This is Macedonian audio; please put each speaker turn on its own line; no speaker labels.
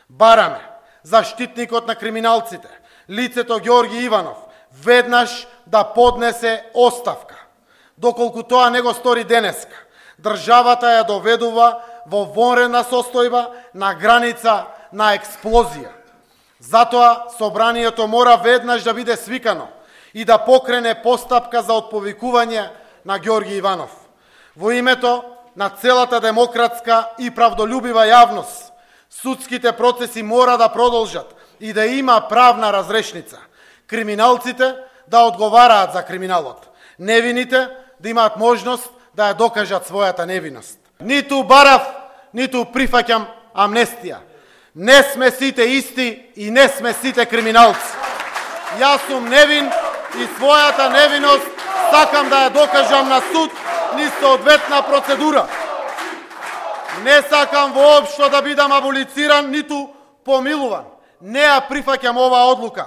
Бараме заштитникот на криминалците, лицето Ѓорги Иванов, веднаш да поднесе оставка. Доколку тоа не го стори денеска, државата ја доведува во вонредна состојба на граница на експлозија. Затоа собранието мора веднаш да биде свикано и да покрене постапка за отповикување на Ѓорги Иванов. Во името на целата демократска и правдолюбива јавност, судските процеси мора да продолжат и да има правна разрешница. Криминалците да одговараат за криминалот. Невините да имаат можност да ја докажат својата невиност. Ниту барав, ниту прифаќам амнестија. Не сме сите исти и не сме сите криминалци. Јас сум невин и својата невиност сакам да ја докажам на суд низ соодветна процедура. Не сакам воопшто да бидам аболициран, ниту помилуван. Не ја прифаќам оваа одлука.